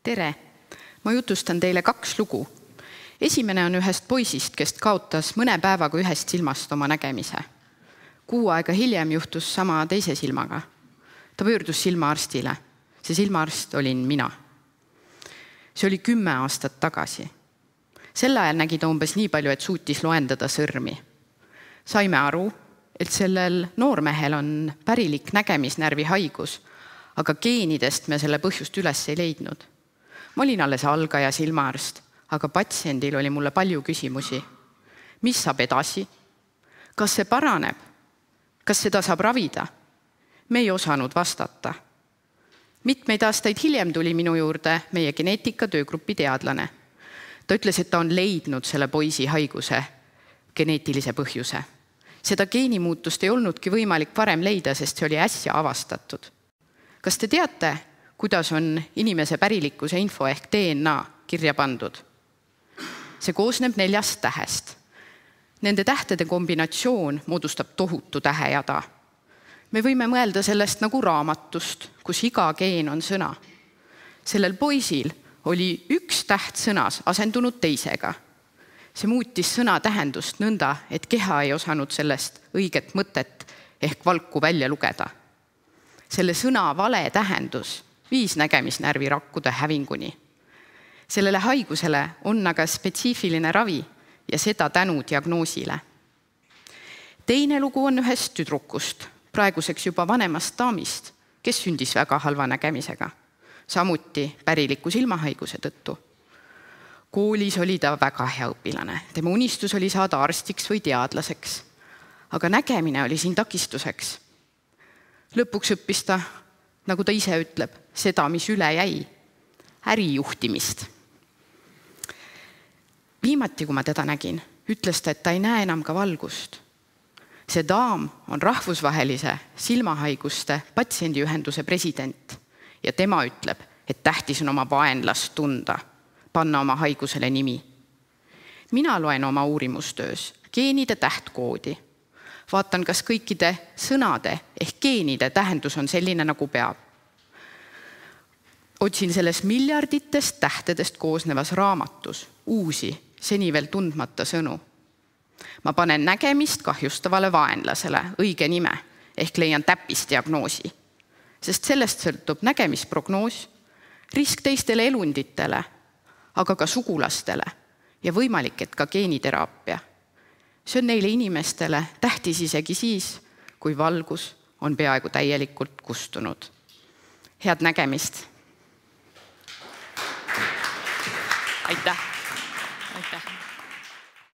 Tere! Ma jutustan teile 2 lugu. Esimene on ühest poisist, kes kaotas mõne päevaga ühest silmast oma nägemise. 6 aega hiljem juhtus sama teise silmaga. Ta pöördus silmaarstile. See silmaarst olin mina. See oli 10 aastat tagasi. Sel ajal nägi ta umbes nii palju, et suutis loendada sõrmi. Saime aru, et sellel noormehel on pärilik nägemisnärvi haigus, aga geenidest me selle põhjust üles ei leidnud. Ma olin alles algaja silmaarst, aga patsiendil oli mulle palju küsimusi. Mis saab edasi? Kas see paraneb? Kas seda saab ravida? Me ei osanud vastata. Mitmeid aastaid hiljem tuli minu juurde meie geneetika töögrupi teadlane. Ta ütles, et ta on leidnud selle poisi haiguse geneetilise põhjuse. Seda geenimuutust ei olnudki võimalik varem leida, sest see oli äsja avastatud. Kas te teate, kuidas on inimese pärilikkuse info ehk DNA kirja pandud? See koosneb 4 tähest. Nende tähtede kombinatsioon moodustab tohutu tähejada. Me võime mõelda sellest nagu raamatust, kus iga geen on sõna. Sellel poisil oli 1 täht sõnas asendunud teisega. See muutis sõna tähendust nõnda, et keha ei osanud sellest õiget mõtet ehk valku välja lugeda. Selle sõna vale tähendus viis nägemisnärvi rakkude hävinguni. Sellele haigusele on aga spetsiifiline ravi ja seda tänu diagnoosile. Teine lugu on ühest tüdrukust, praeguseks juba vanemast daamist, kes sündis väga halva nägemisega, samuti päriliku silmahaiguse tõttu. Koolis oli ta väga hea õpilane. Tema unistus oli saada arstiks või teadlaseks, aga nägemine oli siin takistuseks. Lõpuks õppis ta, nagu ta ise ütleb, seda, mis üle jäi, ärijuhtimist. Viimati, kui ma teda nägin, ütles ta, et ta ei näe enam ka valgust. See daam on rahvusvahelise silmahaiguste patsiendiühenduse president ja tema ütleb, et tähtis on oma vaenlast tunda, panna oma haigusele nimi. Mina loen oma uurimustöös geenide tähtkoodi. Vaatan, kas kõikide sõnade ehk geenide tähendus on selline, nagu peab. Otsin selles miljarditest tähtedest koosnevas raamatus uusi, seni veel tundmata sõnu. Ma panen nägemist kahjustavale vaenlasele õige nime ehk leian täppisdiagnoosi, sest sellest sõltub nägemisprognoos, risk teistele elunditele, aga ka sugulastele ja võimalik, et ka geeniteraapia. See on neile inimestele tähtis isegi siis, kui valgus on peaaegu täielikult kustunud. Head nägemist! Aitäh!